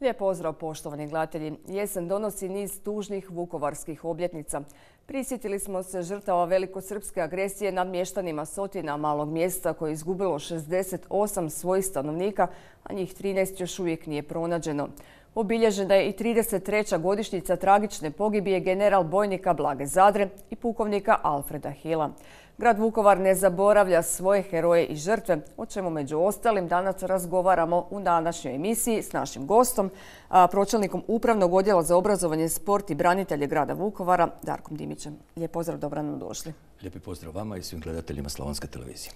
Lijep pozdrav poštovani gledatelji. Jesen donosi niz tužnih vukovarskih obljetnica. Prisjetili smo se žrtava velikosrpske agresije nad mještanima Sotina, malog mjesta koje je izgubilo 68 svojih stanovnika, a njih 13 još uvijek nije pronađeno. Obilježena je i 33. godišnjica tragične pogibije general bojnika Blage Zadre i pukovnika Alfreda Hila. Grad Vukovar ne zaboravlja svoje heroje i žrtve, o čemu među ostalim danas razgovaramo u današnjoj emisiji s našim gostom, pročelnikom Upravnog odjela za obrazovanje, sport i branitelje grada Vukovara, Darkom Dimićem. Lijep pozdrav, dobro nam došli. Lijepi pozdrav vama i svim gledateljima Slavonske televizije.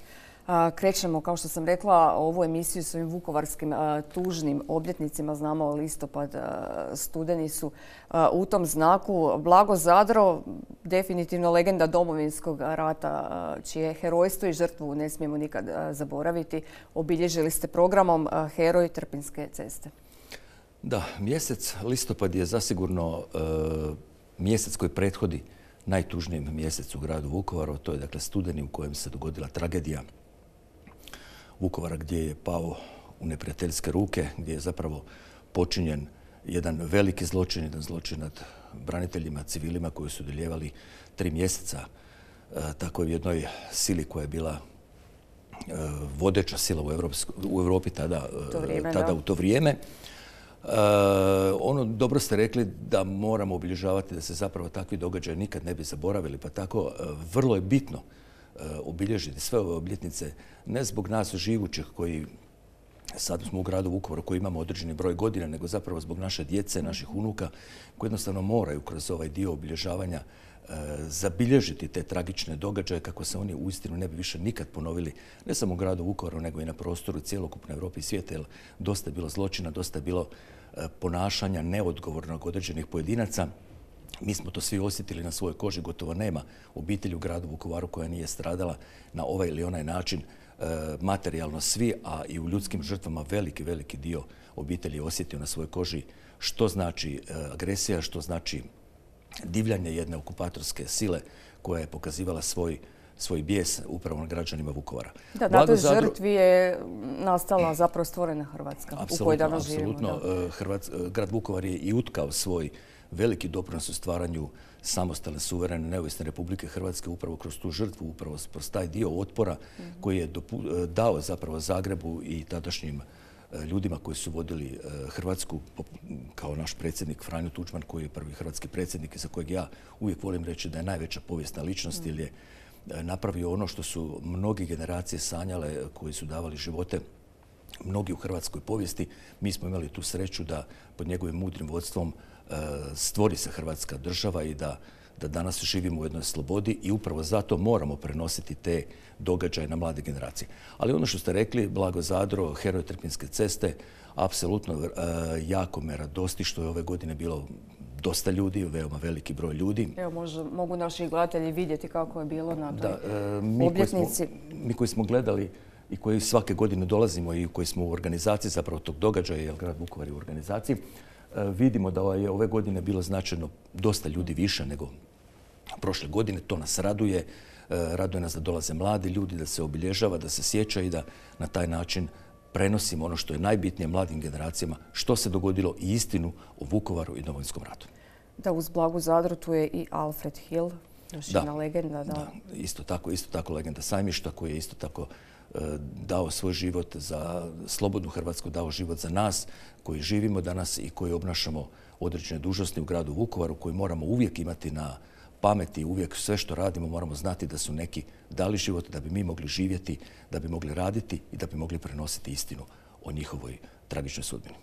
Krećemo, kao što sam rekla, ovu emisiju s ovim vukovarskim tužnim obljetnicima. Znamo, listopad, studeni su u tom znaku. Blago Zadro, definitivno legenda Domovinskog rata, čije herojstvo i žrtvu ne smijemo nikad zaboraviti. Obilježili ste programom Heroj Trpinjske ceste. Da, mjesec listopad je zasigurno mjesec koji prethodi najtužnijem mjesecu u gradu Vukovaru. To je dakle studeni u kojem se dogodila tragedija Vukovara, gdje je pao u neprijateljske ruke, gdje je zapravo počinjen jedan veliki zločin, jedan zločin nad braniteljima, civilima koji su dolijevali 3 mjeseca takoj jednoj sili koja je bila vodeća sila u Europi tada u to vrijeme. Dobro ste rekli da moramo obilježavati da se zapravo takvi događaji nikad ne bi zaboravili, pa tako vrlo je bitno obilježiti sve ove obljetnice, ne zbog nas živućih koji sad smo u gradu Vukovaru, koji imamo određeni broj godina, nego zapravo zbog naše djece, naših unuka, koji jednostavno moraju kroz ovaj dio obilježavanja zabilježiti te tragične događaje kako se oni uistinu ne bi više nikad ponovili, ne samo u gradu Vukovaru, nego i na prostoru cjelokupne Europe i svijeta, jer dosta je bilo zločina, dosta je bilo ponašanja neodgovornog određenih pojedinaca. Mi smo to svi osjetili na svojoj koži, gotovo nema obitelji u gradu Vukovaru koja nije stradala na ovaj ili onaj način, materijalno svi, a i u ljudskim žrtvama veliki dio obitelji je osjetio na svojoj koži što znači agresija, što znači divljanje jedne okupatorske sile koja je pokazivala svoj bijes upravo na građanima Vukovara. Da, na toj žrtvi je nastala zapravo stvorena Hrvatska u kojoj danas živimo. Apsolutno. Grad Vukovar je i utkao svoj veliki doprinos u stvaranju samostalne, suverene, neovisne Republike Hrvatske upravo kroz tu žrtvu, upravo kroz taj dio otpora koji je dao zapravo Zagrebu i tadašnjim ljudima koji su vodili Hrvatsku, kao naš predsjednik Franjo Tuđman, koji je prvi hrvatski predsjednik i za kojeg ja uvijek volim reći da je najveća povijesna ličnost, jer je napravio ono što su mnogi generacije sanjale, koji su davali živote mnogi u hrvatskoj povijesti. Mi smo imali tu sreću da pod njegovim mudrim vodstvom stvori se Hrvatska država i da danas živimo u jednoj slobodi i upravo zato moramo prenositi te događaje na mlade generacije. Ali ono što ste rekli, Blago Zadro, heroj Trpinjske ceste, apsolutno jako me radosti što je ove godine bilo dosta ljudi, veoma veliki broj ljudi. Evo, mogu naši gledatelji vidjeti kako je bilo na toj obljetnici. Mi koji smo gledali i koji svake godine dolazimo i koji smo u organizaciji zapravo tog događaja, jer grad Vukovar je u organizaciji, vidimo da je ove godine bilo značajno dosta ljudi više nego prošle godine. To nas raduje. Raduje nas da dolaze mladi ljudi, da se obilježava, da se sjeća i da na taj način prenosimo ono što je najbitnije mladim generacijama, što se dogodilo i istinu o Vukovaru i Domovinskom ratu. Da, uz Blagu Zadru tu je i Alfred Hill, još jedna legenda. Da, isto tako legenda Sajmišta, koji je isto tako dao svoj život za slobodnu Hrvatsku, dao život za nas koji živimo danas i koji obnašamo određene dužnosti u gradu Vukovaru, koji moramo uvijek imati na pameti, uvijek sve što radimo moramo znati da su neki dali život da bi mi mogli živjeti, da bi mogli raditi i da bi mogli prenositi istinu o njihovoj tragičnoj sudbini.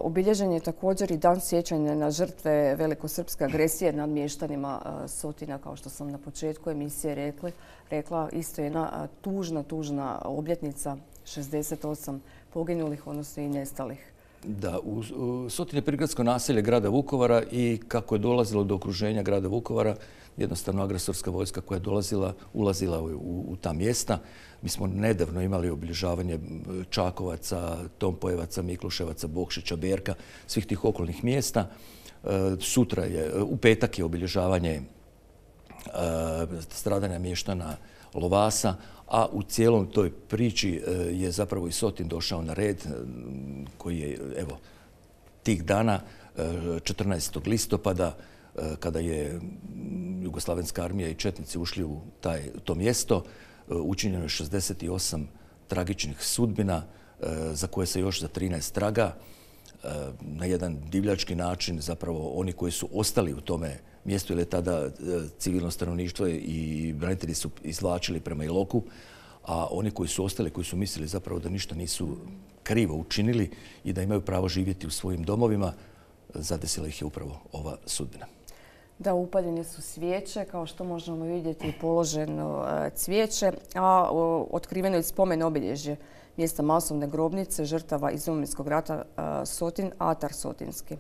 Obilježen je također i dan sjećanja na žrtve velikosrpske agresije nad mještanima Sotina, kao što sam na početku emisije rekla. Isto jedna tužna obljetnica, 68 poginulih, odnosno i nestalih. Da, Sotin je prigradsko naselje grada Vukovara i kako je dolazilo do okruženja grada Vukovara, jednostavno agresorska vojska koja je ulazila u ta mjesta. Mi smo nedavno imali obilježavanje Čakovaca, Tompojevaca, Mikluševaca, Bokšića, Berka, svih tih okolnih mjesta. U petak je obilježavanje stradanja mještana Lovasa, a u cijelom toj priči je zapravo i Sotin došao na red, koji je, evo, tih dana 14. listopada kada je Jugoslavenska armija i četnici ušli u to mjesto, učinjeno je 68 tragičnih sudbina za koje se još za 13 traga. Na jedan divljački način zapravo oni koji su ostali u tome mjestu, jer je tada civilno stanovništvo i branitelji su izvlačili prema Iloku, a oni koji su ostali, koji su mislili zapravo da ništa nisu krivo učinili i da imaju pravo živjeti u svojim domovima, zadesila ih je upravo ova sudbina. Da, upaljene su svijeće, kao što možemo vidjeti, položeno cvijeće, a otkriveno je spomen obilježje mjesta masovne grobnice žrtava iz Domovinskog rata Sotin, Atar Sotinski.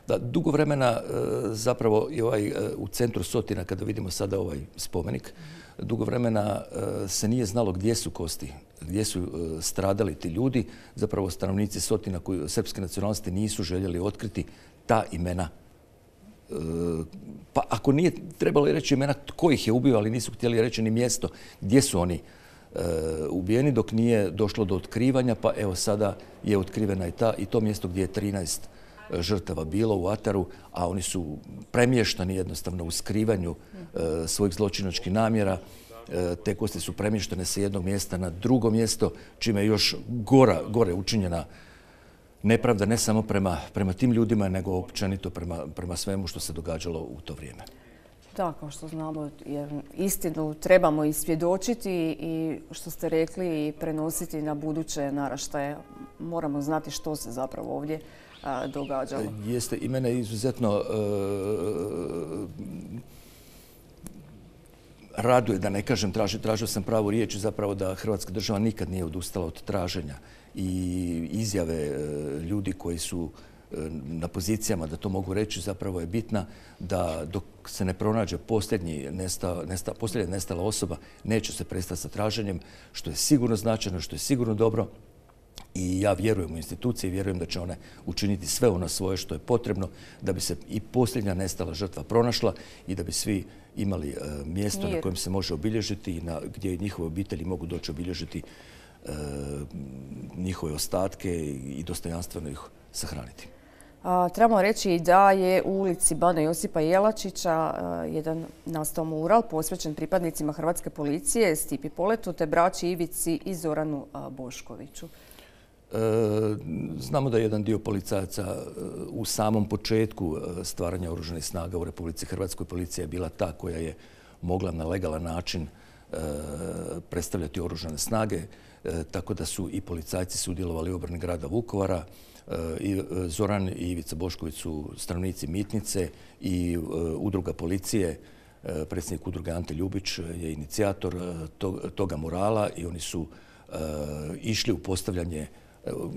Da, dugo vremena zapravo i u centru Sotina, kada vidimo sada ovaj spomenik, dugo vremena se nije znalo gdje su kosti, gdje su stradali ti ljudi. Zapravo stanovnici Sotina koji srpske nacionalnosti nisu željeli otkriti ta imena. Pa ako nije trebalo reći imena tko ih je ubio, ali nisu htjeli reći ni mjesto gdje su oni ubijeni dok nije došlo do otkrivanja, pa evo sada je otkrivena i to mjesto gdje je 13 žrtava bilo u Ataru, a oni su premještani jednostavno u skrivanju svojih zločinačkih namjera. Te kosti su premještene sa jednog mjesta na drugo mjesto, čime je još gore učinjena nepravda ne samo prema tim ljudima, nego općenito prema svemu što se događalo u to vrijeme. Da, kao što znamo, istinu trebamo i svjedočiti i što ste rekli i prenositi na buduće naraštaje. Moramo znati što se zapravo ovdje događalo. Jeste, i mene izuzetno raduje, da ne kažem, tražio sam pravu riječ, zapravo da Hrvatska država nikad nije odustala od traženja i izjave ljudi koji su na pozicijama, da to mogu reći, zapravo je bitna da dok se ne pronađe posljednja nestala osoba, neće se prestati sa traženjem, što je sigurno značajno, što je sigurno dobro. I ja vjerujem u institucije i vjerujem da će one učiniti sve ono svoje što je potrebno da bi se i posljednja nestala žrtva pronašla i da bi svi imali mjesto na kojem se može obilježiti i gdje njihove obitelji mogu doći obilježiti njihove ostatke i dostojanstveno ih sahraniti. Trebamo reći da je u ulici Bana Josipa Jelačića jedan nastao mural posvećen pripadnicima Hrvatske policije, Stipi Poletu te braći Ivici i Zoranu Boškoviću. Znamo da je jedan dio policajaca u samom početku stvaranja oružanih snaga u Republici Hrvatskoj, policija je bila ta koja je mogla na legalan način predstavljati oružane snage, tako da su i policajci sudjelovali u obrani grada Vukovara. Zoran i Ivica Bošković su stanovnici Mitnice i udruga policije. Predsjednik udruge Ante Ljubić je inicijator toga murala i oni su išli u postavljanje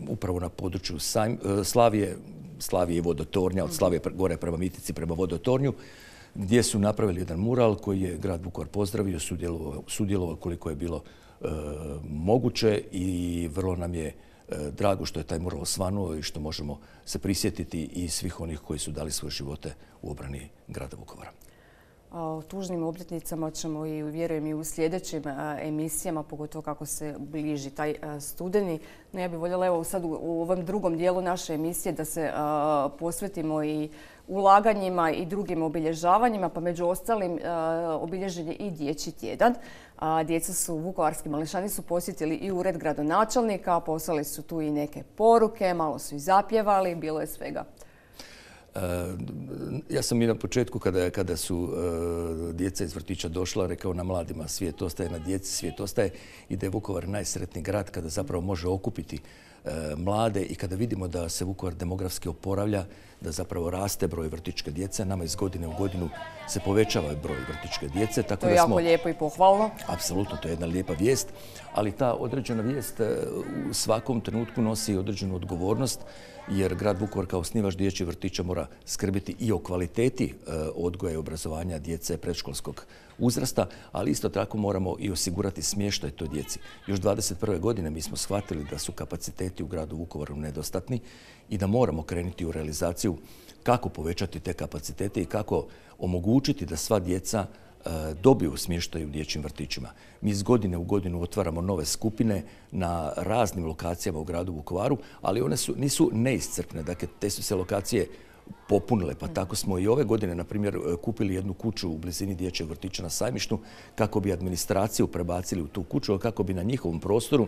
upravo na području Slavije i Vodotornja, od Slavije gore prema Mitnici, prema Vodotornju, gdje su napravili jedan mural koji je grad Vukovar pozdravio, sudjelovao koliko je bilo moguće i vrlo nam je drago što je taj mural osvanuo i što možemo se prisjetiti i svih onih koji su dali svoje živote u obrani grada Vukovara. O tužnim obljetnicama ćemo i vjerujem i u sljedećim emisijama, pogotovo kako se bliži taj studeni. No, ja bih voljela evo sad u ovom drugom dijelu naše emisije da se posvetimo i ulaganjima i drugim obilježavanjima, pa među ostalim obilježen je i Dječji tjedan. Djeca su, vukovarski mališani su posjetili i ured gradonačelnika, poslali su tu i neke poruke, malo su i zapjevali, bilo je svega. Ja sam i na početku kada su djeca iz vrtića došla rekao na mladima svijet ostaje, na djeci svijet ostaje i da je Vukovar najsretniji grad kada zapravo može okupiti mlade i kada vidimo da se Vukovar demografski oporavlja, da zapravo raste broj vrtićke djece. Nama iz godine u godinu se povećava broj vrtićke djece. To je jako lijepo i pohvalno. Apsolutno, to je jedna lijepa vijest, ali ta određena vijest u svakom trenutku nosi određenu odgovornost jer grad Vukovar kao osnivač dječjih vrtića mora skrbiti i o kvaliteti odgoja i obrazovanja djece predškolskog uzrasta, ali isto tako moramo i osigurati smještaj toj djeci. Još 2021. godine mi smo shvatili da su kapaciteti u gradu Vukovaru nedostatni i da moramo krenuti u realizaciju kako povećati te kapacitete i kako omogućiti da sva djeca dobiju smještaj u dječjim vrtićima. Mi iz godine u godinu otvaramo nove skupine na raznim lokacijama u gradu Vukovaru, ali one nisu neiscrpne. Dakle, te su se lokacije popunile, pa tako smo i ove godine, na primjer, kupili jednu kuću u blizini dječjeg vrtića na Sajmištu kako bi administraciju prebacili u tu kuću, kako bi na njihovom prostoru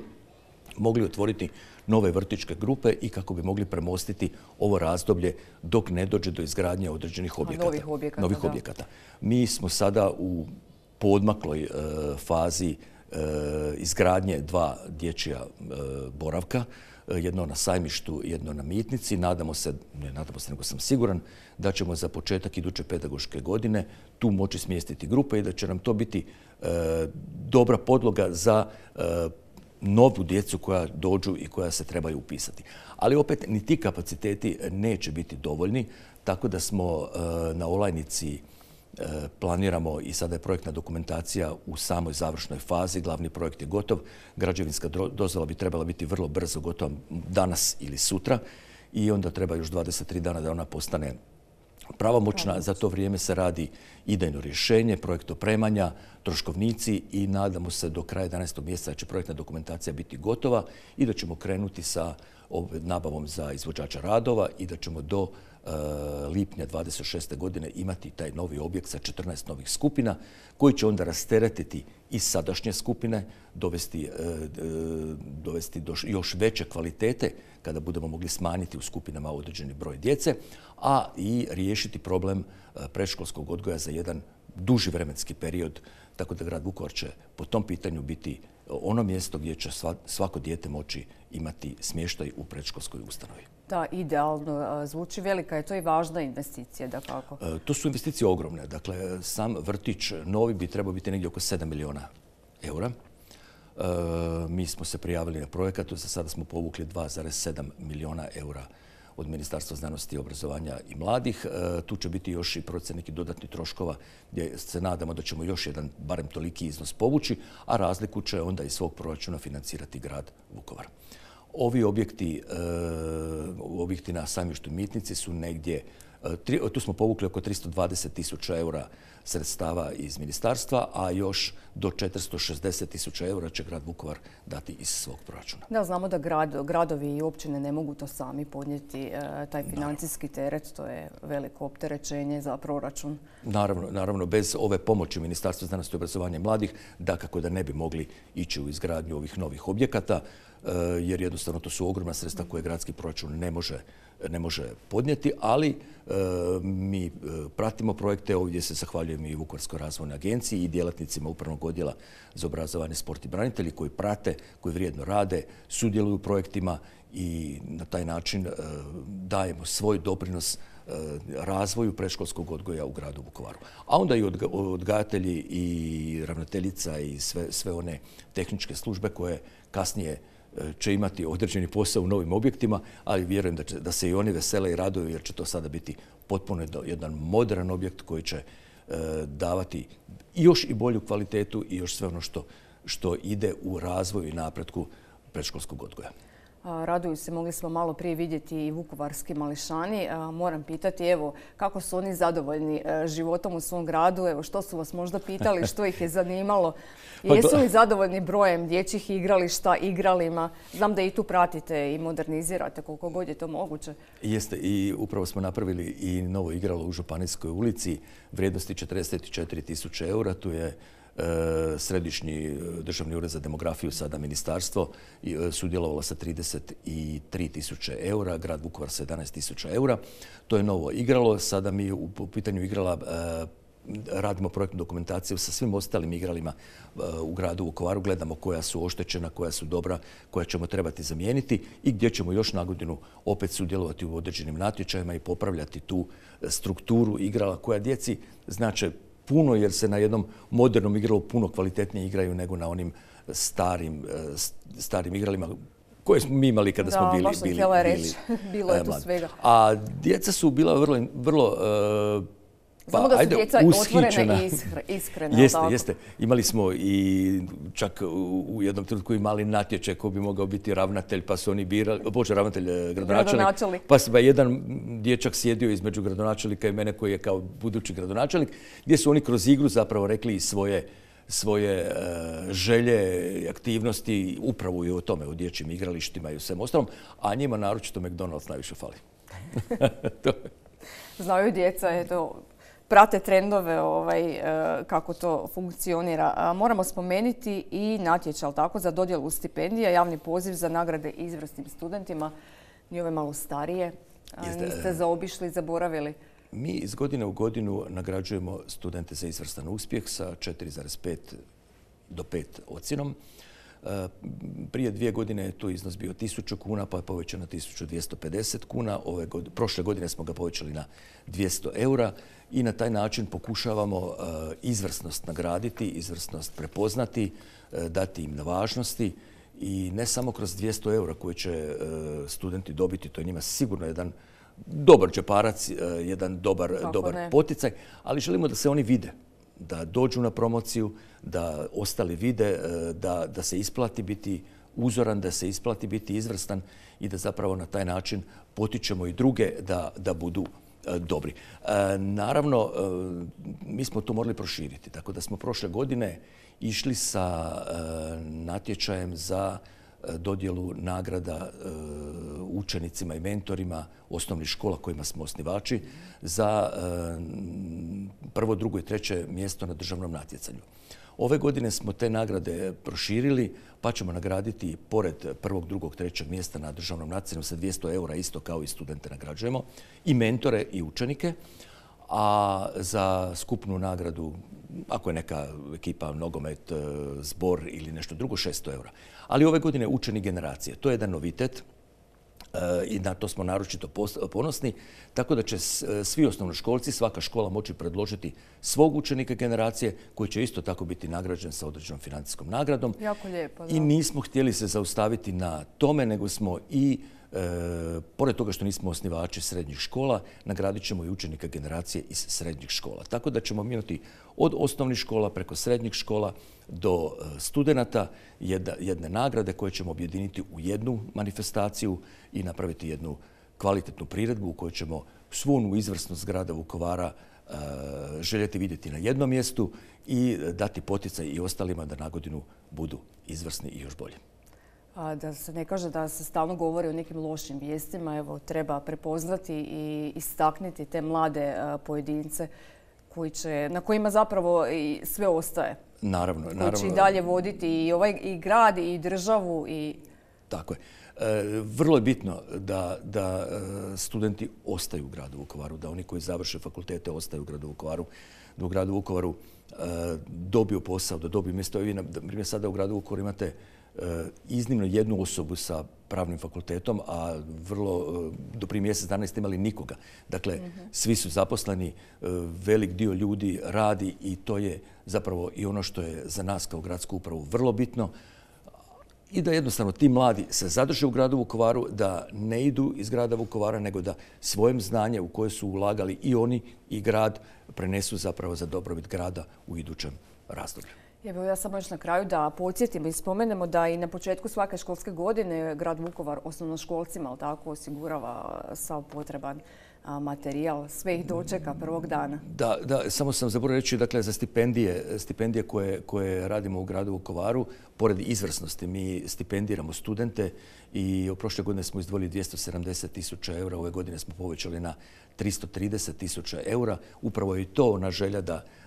mogli otvoriti nove vrtićke grupe i kako bi mogli premostiti ovo razdoblje dok ne dođe do izgradnje određenih objekata. Novih objekata. Mi smo sada u poodmakloj fazi izgradnje 2 dječja boravka, jedno na Sajmištu, jedno na Mitnici. Nadamo se, nego sam siguran, da ćemo za početak iduće pedagoške godine tu moći smjestiti grupe i da će nam to biti dobra podloga za novu djecu koja dođu i koja se trebaju upisati. Ali opet ni ti kapaciteti neće biti dovoljni, tako da smo na Olajnici planiramo i sada je projektna dokumentacija u samoj završnoj fazi. Glavni projekt je gotov. Građevinska dozvola bi trebala biti vrlo brzo gotova danas ili sutra i onda treba još 23 dana da ona postane pravomoćna. Za to vrijeme se radi idejno rješenje, projekt opremanja, troškovnici i nadamo se do kraja 11. mjeseca da će projektna dokumentacija biti gotova i da ćemo krenuti sa nabavom za izvođača radova i da ćemo do lipnja 26. godine imati taj novi objekt sa 14 novih skupina koji će onda rasteretiti i sadašnje skupine, dovesti do još veće kvalitete kada budemo mogli smanjiti u skupinama određeni broj djece, a i riješiti problem predškolskog odgoja za jedan duži vremenski period, tako da grad Vukovar će po tom pitanju biti ono mjesto gdje će svako dijete moći imati smještaj u predškolskoj ustanovi. Da, idealno zvuči. Velika je to i važna investicija, dakako. To su investicije ogromne. Dakle, sam vrtić novi bi trebao biti negdje oko 7 milijuna eura. Mi smo se prijavili na projekat, za sada smo povukli 2,7 milijuna eura od Ministarstva znanosti, obrazovanja i mladih. Tu će biti još i procjena nekih dodatnih troškova gdje se nadamo da ćemo još jedan, barem toliki iznos povući, a razliku će onda iz svog proračuna financirati grad Vukovar. Ovi objekti na Sajmištu i Mitnici su negdje, tu smo povukli oko 320.000 eura sredstava iz ministarstva, a još do 460.000 eura će grad Vukovar dati iz svog proračuna. Da, znamo da gradovi i općine ne mogu to sami podnijeti, taj financijski teret, to je veliko opterećenje za proračun. Naravno, bez ove pomoći Ministarstva znanosti, obrazovanja i mladih, dakako da ne bi mogli ići u izgradnju ovih novih objekata, jer jednostavno to su ogromna sredstva koje gradski proračun ne može podnijeti, ali mi pratimo projekte. Ovdje se zahvaljujem i Vukovarskoj razvojnoj agenciji i djelatnicima Upravnog odjela za obrazovanje, sport i branitelji koji prate, koji vrijedno rade, sudjeluju u projektima i na taj način dajemo svoj doprinos razvoju predškolskog odgoja u gradu Vukovaru. A onda i odgajatelji i ravnateljica i sve one tehničke službe koje kasnije će imati određeni posao u novim objektima, ali vjerujem da se i oni vesele i raduju jer će to sada biti potpuno jedan modern objekt koji će davati još i bolju kvalitetu i još sve ono što ide u razvoju i napretku predškolskog odgoja. Raduju se, mogli smo malo prije vidjeti i vukovarski mališani. Moram pitati, evo, kako su oni zadovoljni životom u svom gradu? Evo, što su vas možda pitali, što ih je zanimalo? Jesu li zadovoljni brojem dječjih igrališta, igralima? Znam da i tu pratite i modernizirate koliko god je to moguće. Jeste, i upravo smo napravili i novo igralo u Županijskoj ulici vrijednosti 44.000 eura. Tu je Središnji državni ured za demografiju, sada ministarstvo, sudjelovalo sa 33.000 eura, grad Vukovar sa 11.000 eura. To je novo igralo. Sada mi u pitanju igrala radimo projektnu dokumentaciju sa svim ostalim igralima u gradu Vukovaru. Gledamo koja su oštećena, koja su dobra, koja ćemo trebati zamijeniti i gdje ćemo još na godinu opet sudjelovati u određenim natječajima i popravljati tu strukturu igrala koja djeci znače puno, jer se na jednom modernom igralu puno kvalitetnije igraju nego na onim starim igralima koje smo mi imali kada smo bili baš sam htjela reći. Bilo je tu svega. A djeca su bila vrlo Znamo da su djeca otvorena i iskrena. Jeste. Imali smo i čak u jednom trenutku i mali natječaj ko bi mogao biti ravnatelj, pa su oni birali, gradonačelnik. Pa se jedan dječak sjedio između gradonačelnika i mene koji je kao budući gradonačelnik, gdje su oni kroz igru zapravo rekli svoje želje i aktivnosti upravo i o tome, o dječjim igralištima i o svem ostalom, a njima naročito McDonald's najviše fali. Znaju djeca, prate trendove kako to funkcionira. Moramo spomenuti i natječaj za dodjelu stipendija, javni poziv za nagrade izvrsnim studentima, ni ove malo starije. Niste zaobišli, zaboravili? Mi iz godine u godinu nagrađujemo studente za izvrstan uspjeh sa 4,5 do 5 ocjenom. Prije 2 godine je tu iznos bio 1000 kuna, pa je povećan na 1250 kuna. Prošle godine smo ga povećali na 200 eura i na taj način pokušavamo izvrsnost nagraditi, izvrsnost prepoznati, dati im na važnosti i ne samo kroz 200 eura koje će studenti dobiti, to je njima sigurno jedan dobar džeparac, jedan dobar poticaj, ali želimo da se oni vide, da dođu na promociju, da ostali vide, da se isplati biti uzoran, da se isplati biti izvrstan i da zapravo na taj način potičemo i druge da budu dobri. Naravno, mi smo to morali proširiti, tako da smo prošle godine išli sa natječajem za dodjelu nagrada učenicima i mentorima osnovnih škola kojima smo osnivači za prvo, drugo i treće mjesto na državnom natjecanju. Ove godine smo te nagrade proširili pa ćemo nagraditi pored prvog, drugog, trećeg mjesta na državnom natjecanju sa 200 eura isto kao i studente nagrađujemo i mentore i učenike, a za skupnu nagradu, ako je neka ekipa, nogomet, zbor ili nešto drugo, 600 eura. Ali ove godine učeni generacije. To je jedan novitet i na to smo naročito ponosni, tako da će svi osnovnoškolci, svaka škola moći predložiti svog učenika generacije koji će isto tako biti nagrađen sa određenom financijskom nagradom. Jako lijepo, da. I nismo htjeli se zaustaviti na tome, nego smo i pored toga što nismo osnivači srednjih škola, nagradit ćemo i učenika generacije iz srednjih škola. Tako da ćemo imati od osnovnih škola preko srednjih škola do studenata jedne nagrade koje ćemo objediniti u jednu manifestaciju i napraviti jednu kvalitetnu priredbu u kojoj ćemo svu onu izvrsnost grada Vukovara željeti vidjeti na jednom mjestu i dati poticaj i ostalima da nagodinu budu izvrsni i još bolji. Da se ne kaže da se stalno govori o nekim lošim vijestima, evo, treba prepoznati i istaknuti te mlade pojedince na kojima zapravo i sve ostaje. Naravno. Koji će i dalje voditi i grad i državu. Tako je. Vrlo je bitno da studenti ostaju u gradu Vukovaru, da oni koji završe fakultete ostaju u gradu Vukovaru, da u gradu Vukovaru dobiju posao, da dobiju mjesto. Vi, na primjer, sada u gradu Vukovaru imate iznimno jednu osobu sa pravnim fakultetom, a do prije mjesec dana niste imali nikoga. Dakle, svi su zaposleni, velik dio ljudi radi i to je zapravo i ono što je za nas kao gradsku upravu vrlo bitno. I da jednostavno ti mladi se zadrže u gradu Vukovaru, da ne idu iz grada Vukovara, nego da svojim znanje u koje su ulagali i oni i grad prenesu zapravo za dobrobit grada u idućem razdoblju. Evo, ja samo još na kraju da podsjetimo i spomenemo da i na početku svake školske godine grad Vukovar osnovnoškolcima osigurava sav potreban materijal, sve ih dočeka prvog dana. Da, samo sam zaboravio reći, dakle, za stipendije koje radimo u gradu Vukovaru, pored izvrsnosti mi stipendiramo studente i prošle godine smo izdvojili 270.000 eura, ove godine smo povećali na 330.000 eura. Upravo je i to ona želja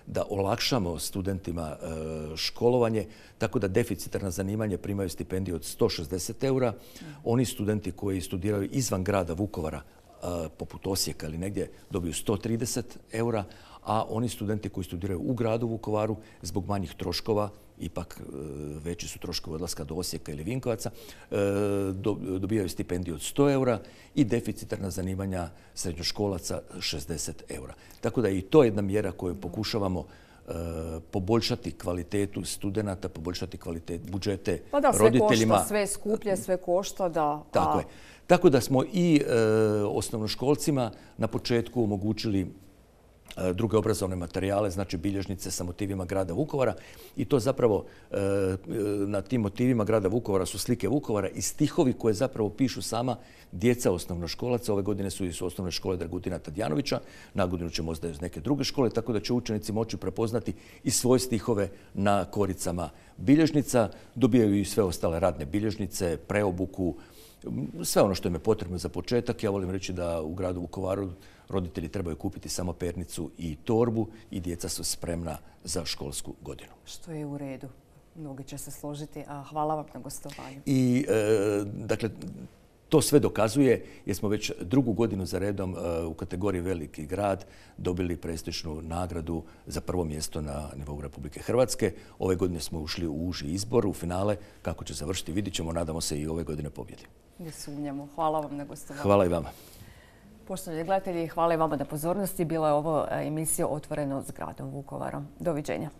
da olakšamo studentima školovanje, tako da deficitarna zanimanja primaju stipendiju od 160 eura. Oni studenti koji studiraju izvan grada Vukovara, poput Osijeka ili negdje, dobiju 130 eura, a oni studenti koji studiraju u gradu Vukovaru zbog manjih troškova, ipak veći su troškovi odlaska do Osijeka ili Vinkovaca, dobijaju stipendiju od 100 eura i deficitarna zanimanja srednjoškolaca 60 eura. Tako da je i to jedna mjera koju pokušavamo poboljšati kvalitetu studenata, poboljšati kvalitet budžete roditeljima. Pa da, sve košta, sve skuplje, sve košta, da. Tako je. Tako da smo i osnovnoškolcima na početku omogućili druge obrazovne materijale, znači bilježnice sa motivima grada Vukovara i to zapravo na tim motivima grada Vukovara su slike Vukovara i stihovi koje zapravo pišu sama djeca osnovnoškolaca. Ove godine su iz osnovne škole Dragutina Tadjanovića, na godinu će možda iz neke druge škole, tako da će učenici moći prepoznati i svoje stihove na koricama bilježnica. Dobijaju i sve ostale radne bilježnice, preobuku, sve ono što im je potrebno za početak. Ja volim reći da u gradu Vukovaru roditelji trebaju kupiti samo pernicu i torbu i djeca su spremna za školsku godinu. Što je u redu. Mnogi će se složiti, a hvala vam na gostovanju. I dakle, to sve dokazuje jer smo već drugu godinu za redom u kategoriji veliki grad dobili prestižnu nagradu za prvo mjesto na nivou Republike Hrvatske. Ove godine smo ušli u uži izbor, u finale. Kako će završiti, vidit ćemo. Nadamo se i ove godine pobjedi. Ne sumnjamo. Hvala vam na gostovanju. Hvala i vama. Poštovani gledatelji, hvala i vama na pozornosti. Bila je ovo emisija Otvoreno s gradom Vukovarom. Doviđenja.